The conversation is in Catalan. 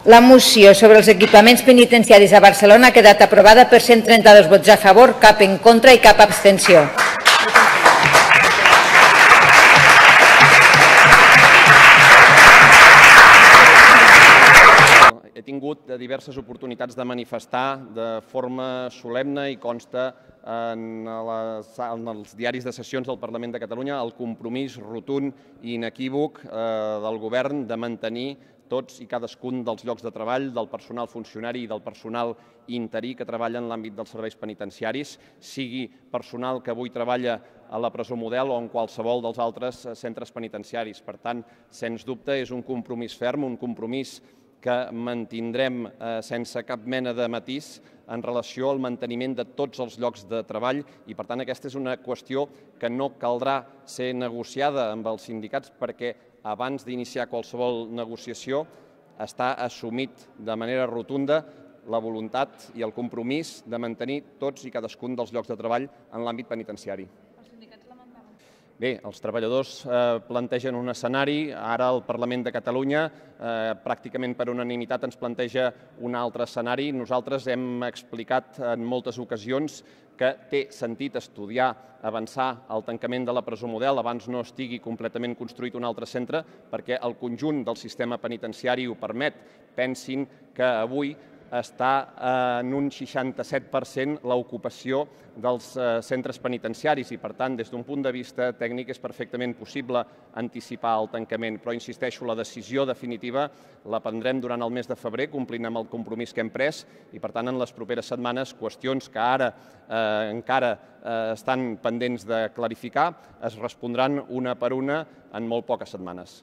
La moció sobre els equipaments penitenciaris a Barcelona ha quedat aprovada per 132 vots a favor, cap en contra i cap abstenció. He tingut diverses oportunitats de manifestar de forma solemne i consta en els diaris de sessions del Parlament de Catalunya el compromís rotund i inequívoc del Govern de mantenir tots i cadascun dels llocs de treball del personal funcionari i del personal interí que treballa en l'àmbit dels serveis penitenciaris, sigui personal que avui treballa a la presó Model o en qualsevol dels altres centres penitenciaris. Per tant, sens dubte, és un compromís ferm, un compromís que mantindrem sense cap mena de matís en relació al manteniment de tots els llocs de treball i, per tant, aquesta és una qüestió que no caldrà ser negociada amb els sindicats perquè abans d'iniciar qualsevol negociació està assumit de manera rotunda la voluntat i el compromís de mantenir tots i cadascun dels llocs de treball en l'àmbit penitenciari. Bé, els treballadors plantegen un escenari, ara el Parlament de Catalunya pràcticament per unanimitat ens planteja un altre escenari. Nosaltres hem explicat en moltes ocasions que té sentit estudiar, avançar el tancament de la presó Model abans no estigui completament construït un altre centre perquè el conjunt del sistema penitenciari ho permet. Pensin que avui està en un 67% l'ocupació dels centres penitenciaris i, per tant, des d'un punt de vista tècnic és perfectament possible anticipar el tancament. Però, insisteixo, la decisió definitiva la prendrem durant el mes de febrer, complint amb el compromís que hem pres i, per tant, en les properes setmanes, qüestions que ara encara estan pendents de clarificar es respondran una per una en molt poques setmanes.